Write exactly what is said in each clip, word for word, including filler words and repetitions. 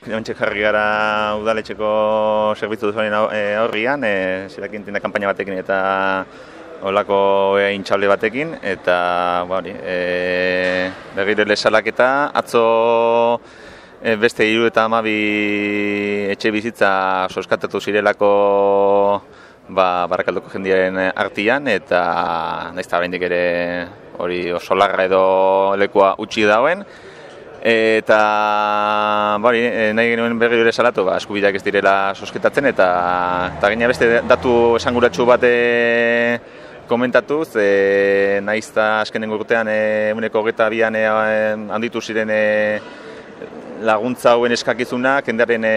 Jontxe jarri gara udaletxeko zerbitzu duzuen aurrian, e, zirakin tinda kanpaina batekin eta holako intxable batekin, eta ba, hori, e, berriro lesalaketa, atzo e, beste hiru eta hamabi etxe bizitza soskatatu zirelako ba, Barakaldoko jendiaren artian, eta nahiz eta oraindik ere hori oso larra edo lekua utzi dauen. Eta bari, nahi genuen berri ere salatu, ba, eskubideak ez direla sosketatzen, eta, eta gaina beste datu esanguratsu bat komentatuz, e, nahiz eta azkenengo urtean ehuneko hogeita bian e, handitu ziren e, laguntza hauen eskakizunak jendearen e,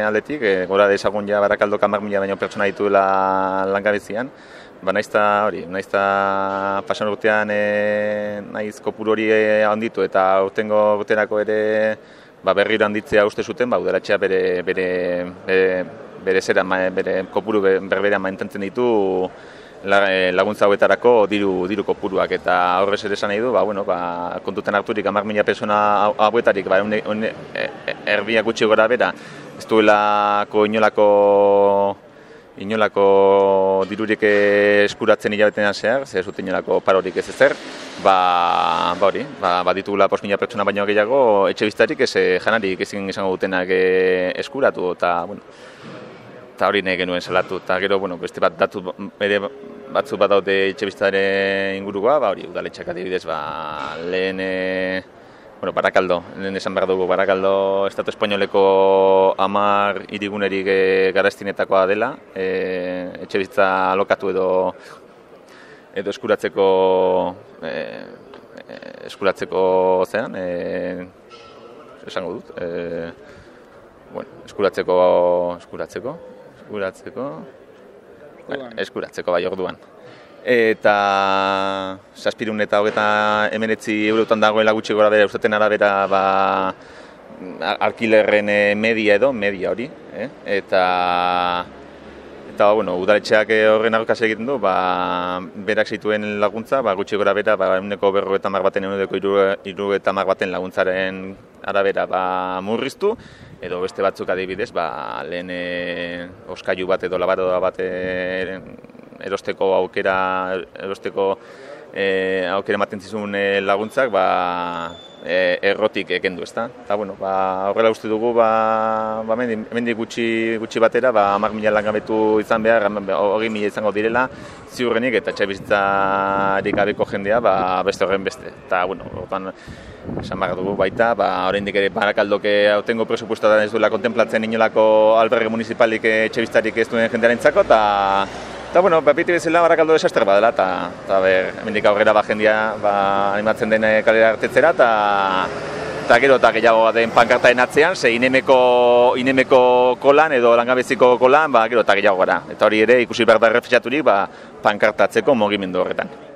aldetik, e, gora dezagun ja Barakaldok hamar mila baino pertsona dituela langabezian. Ba, nahiz eta hori, nahiz eta pasan urtean e, nahiz kopuru hori handitu eta urtengo urterako ere ba, berriro handitzea uste zuten, ba, udaletxea bere, bere, bere, bere zera, bere kopuru berberean mantentzen ditu laguntza hauetarako diru, diru kopuruak, eta horrez ere esan nahi du, ba, bueno, ba, kontutan harturik hamar mila persona hauetarik, ba, une, une, erbiak gutxi gora bera, ez duelako inolako inolako dirurik eskuratzen hilabetean zehar, ze ez dut inolako parorik ez ezer, ba, ba hori, ba, ba ditugula bost mila pertsona baino gehiago etxe biztarik ez janarik ezin izango dutenak eskuratu, eta, bueno, eta hori nahi genuen salatu, eta gero, bueno, beste bat datu ere batzu bat daude etxe biztaren ingurukoa, ba hori, udaletxeak adibidez, ba, lehen, e, bueno, Barakaldo, lehen esan behar dugu, Barakaldo Estatu Espainoleko hamar hirigunerik e, garaztinetakoa dela, e, etxe bizitza alokatu edo edo eskuratzeko e, eskuratzeko zean, e, esango dut, e, bueno, eskuratzeko eskuratzeko eskuratzeko bueno, eskuratzeko bai orduan. Eta zazpirun eta hogeita hemeretzi eurotan dagoela gutxi gora bera ustaten arabera ba, alkilerren media edo, media hori, eh? eta eta bueno, udaletxeak horren aurkaz egiten du, ba, berak zituen laguntza, ba, gutxi gora bera, ba, eguneko berrogeita hamar baten, eguneko hirurogeita hamar baten laguntzaren arabera ba, murriztu, edo beste batzuk adibidez, ba, lehen e, oskailu bat edo labaroa bat e, erosteko aukera erosteko e, aukera ematen zizun e, laguntzak ba, e, errotik ekendu, ezta? Eta bueno, ba, horrela uste dugu ba, ba hemendik gutxi gutxi batera ba hamar mila langabetu izan behar, hogei mila izango direla ziurrenik eta etxe bizitzarik gabeko jendea ba beste horren beste. Eta bueno, orduan esan behar dugu baita, ba oraindik ere Barakaldok aurtengo presupuestoa ez duela kontemplatzen inolako alberge municipalik etxe bizitzarik ez duen jendearentzako, eta Eta, bueno, beti bezala Barakaldo desastre badela, eta, eta ber, hemendik aurrera ba jendia ba, animatzen den kalera hartetzera, eta, eta gero eta gehiago den pankartaren atzean, ze inemeko, inemeko kolan edo langabeziko kolan, ba, gero eta gehiago gara. Eta hori ere ikusi behar da errefetxaturik ba, pankartatzeko mugimendu horretan.